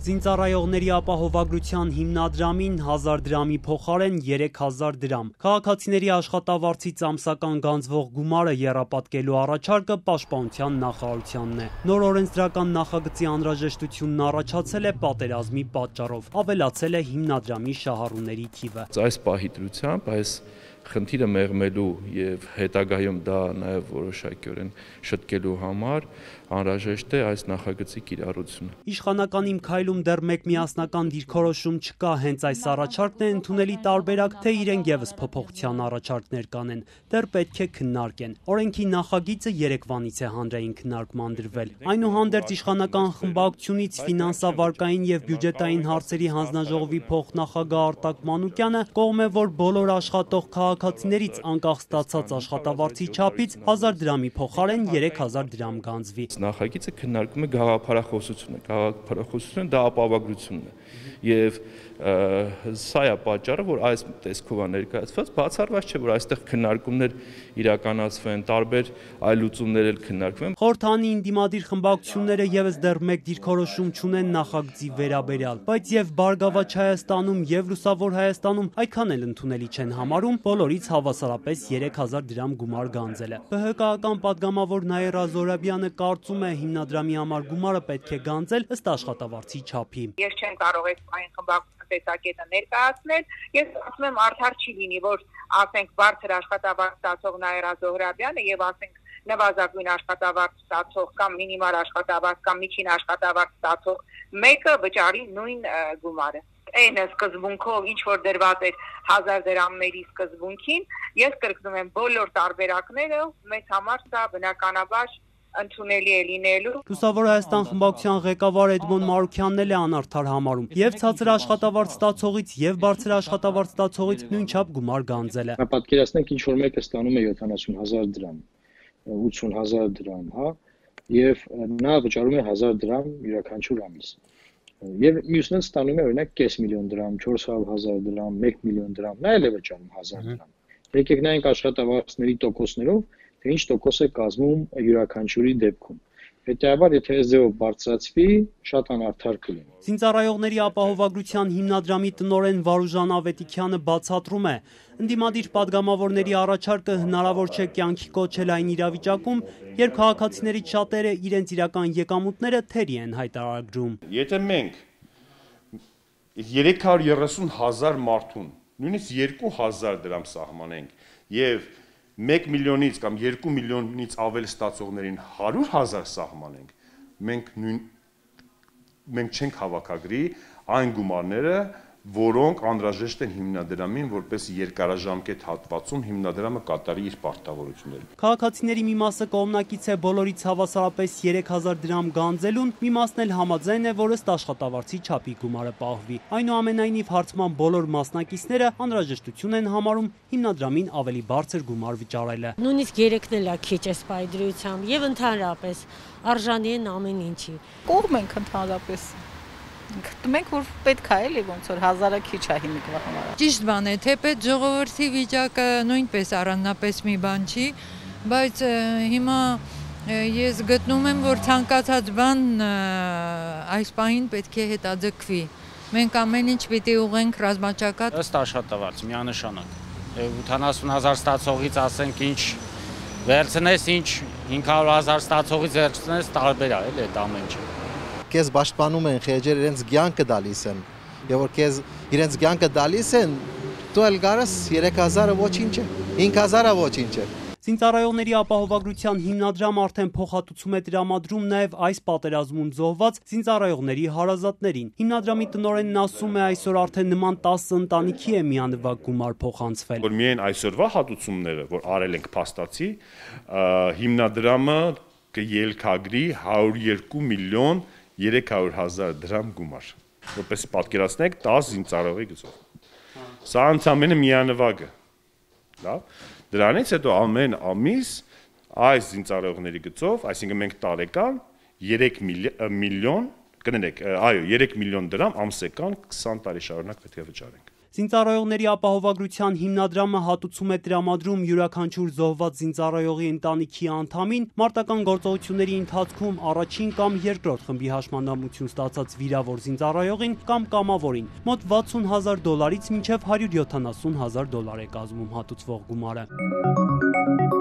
Զինծառայողների ապահովագրության հիմնադրամին 1000 դրամի փոխարեն 3000 դրամ։ Քաղաքացիների աշխատավարձից ամսական գանձվող գումարը եռապատկելու առաջարկը Պաշտպանության նախարարությանն է։ Նոր օրենսդրական նախագծի անհրաժեշտությունն առաջացել է պատերազմի պատճառով, ավելացել է հիմնադրամի շահառուների թիվը։ Այս պահի դրությամբ այս խնդիրը մեղմելու եւ հետագայում դա նաեւ որոշակիորեն շտկելու համար անհրաժեշտ է այս նախագծի կիրառությունը։ Իշխանական Իմ քայլում դեռ մեկ միասնական դիրքորոշում չկա, հենց այս առաջարկն է ընդունելի տարբերակ, թե իրենք եւս փոփոխության առաջարկներ կանեն, դեռ պետք է քննարկեն։ Օրենքի նախագիծը երեկվանից է հանրային քննարկման դրվել։ Այնուհանդերձ իշխանական խմբակցությունից ֆինանսավարկային եւ բյուջետային հարցերի հանձնաժողովի փոխնախագահ Արտակ Մանուկյանը կողմ է, որ բոլոր աշխատող քաղաքացիներից անկախ ստացած աշխատավարձի չափից 1000 դրամի փոխարեն 3000 դրամ գանձվի։ Նախագիծը քննարկում է գաղափարախոսությունը, գաղափարախոսությունը դա ապահովագրությունն է եւ սա է պատճառը, որ այս տեսքով է ներկայացված, բացառված չէ, որ այստեղ քննարկումներ իրականացվեն, տարբեր այլ լուծումներ էլ քննարկվեն։ Խորհրդանի ինդիմադիր խմբակցությունները եւս դեռ մեկ դիրքորոշում չունեն նախագծի վերաբերյալ, բայց եւ Բարգավաճ Հայաստանում եւ Լուսավոր Հայաստանում այդքան էլ ընդունելի չեն համարում բոլորից հավասարապես 3000 դրամ գումար գանձելը։ ԲՀԿ-ական պատգամավոր Նաիրա Զոհրաբյանը կարծում է հիմնադրամի համար գումարը պետք է գանձել ըստ աշխատավարձի չափի։ Ես չեմ կարող այս խմբակցության տեսակետը ներկայացնել, ես ասում եմ արդար չի լինի, որ ասենք բարձր աշխատավարձ ստացող Նաիրա Զոհրաբյանը եւ ասենք նվազագույն աշխատավարձ ստացող կամ մինիմալ աշխատավարձ կամ միջին աշխատավարձ ստացող մեկը վճարի նույն գումարը։ Այն սկզբունքով ինչ որ դրված էր 1000 դրամների սկզբունքին, ես կրկնում եմ բոլոր տարբերակները մեծ համար սա բնականաբար ընդունելի է լինելու։ Լուսավոր Հայաստան խմբակցության ղեկավար Էդմոն Մարուքյանն էլ է անարդար համարում եւ ցածր աշխատավարձ ստացողից եւ բարձր աշխատավարձ ստացողից նույնչափ գումար գանձելը։ Պատկերացնենք ինչ որ մեկը ստանում է 70000 դրամ, 80000 դրամ, հա, եւ նա վճարում է 1000 դրամ յուրաքանչյուր ամիս։ Եվ մյուսն էլ ստանում է օրինակ 500,000 դրամ, 400,000 դրամ, 1 միլիոն դրամ, նա էլ է վճարում 1000 դրամ։ Եկեք նայենք աշխատավարձների տոկոսներով, թե ինչ տոկոս է կազմում յուրաքանչյուրի դեպքում։ Հետևաբար, եթե այս ձևով բարձրացվի, շատ անարդար կլինի։ Զինծառայողների ապահովագրության հիմնադրամի տնօրեն Վարուժան Ավետիքյանը բացատրում է, ընդդիմադիր պատգամավորների առաջարկը հնարավոր չէ կյանքի կոչել այն իրավիճակում, երբ քաղաքացիներից շատերը իրենց իրական եկամուտները թերի են հայտարարագրում։ Եթե մենք 330,000 մարդուն, նույնիսկ 2000 դրամ սահմանենք եւ 1 միլիոնից կամ 2 միլիոնից ավել ստացողներին 100,000 սահմանենք, մենք չենք հավաքագրի այն գումարները, որոնք անհրաժեշտ են հիմնադրամին, որպես երկարաժամկետ հատվածում հիմնադրամը կատարի իր պարտավորությունները։ Քաղաքացիների մի մասը կողմնակից է բոլորից հավասարապես 3000 դրամ գանձելուն, մի մասն էլ համաձայն է, որ ըստ աշխատավարձի չափի գումարը պահվի։ Այնուամենայնիվ հարցման բոլոր մասնակիցները անհրաժեշտություն են համարում հիմնադրամին ավելի բարձր գումար վճարելը։ Նույնիսկ 3-ն էլ է քիչ էս պայդրությամբ եւ ընդհանրապես արժանի են ամեն ինչի։ Կողմ ենք ընդհանրապես։ Գտնում ենք, որ պետք է էլի ոնց որ 1000-ը քիչ է հիմիկվա համար։ Ճիշտ բան է, թեպետ ժողովրդի վիճակը նույնպես առանձնապես մի բան չի, բայց հիմա ես գտնում եմ, որ ցանկացած բան այս պահին պետք է հետաձգվի։ Մենք ամեն ինչ պիտի ուղենք ռազմաճակատ ըստ աշխատավարձ միանշանակ։ 80,000 ստացողից ասենք ինչ վերցնես, ինչ 500,000 ստացողից վերցնես, տարբեր է էլի այդ ամեն ինչը։ Քեզ պաշտպանում են, խեջեր իրենց կյանքը տալիս են։ Եվ որ քեզ իրենց կյանքը տալիս են, դու էլ գարես 3000-ը ոչինչ է, 5000-ը ոչինչ է։ Զինծառայողների ապահովագրության հիմնադրամը արդեն փոխհատուցում է տրամադրում նաև այս պատերազմում զոհված զինծառայողների հարազատներին։ Հիմնադրամի տնօրենն ասում է, այսօր արդեն նման 10 ընտանիքի է միանվագ գումար փոխանցվել։ Որ միայն այսօրվա հատուցումները, որ արել ենք փաստացի, հիմնադրամը կելքագրի 102 միլիոն 300,000 դրամ գումար, որպես պատկերացնեք 10 զինծառայողի գծով։ Սա ընդամենը միանվագը, լավ։ Դրանից հետո ամեն ամիս այս զինծառայողների գծով, այսինքն մենք տարեկան 3 միլիոն, կներեք, այո, 3 միլիոն դրամ ամսեկան 20 տարի շարունակ պետք է վճարենք։ Զինծառայողների ապահովագրության հիմնադրամը հատուցում է տրամադրում յուրաքանչյուր զոհված զինծառայողի ընտանիքի անդամին մարտական գործողությունների ընթացքում առաջին կամ երկրորդ խմբի հաշմանդամություն ստացած վիրավոր զինծառայողին կամ կամավորին մոտ $60,000-ից մինչև $170,000 է կազմում հատուցվող գումարը։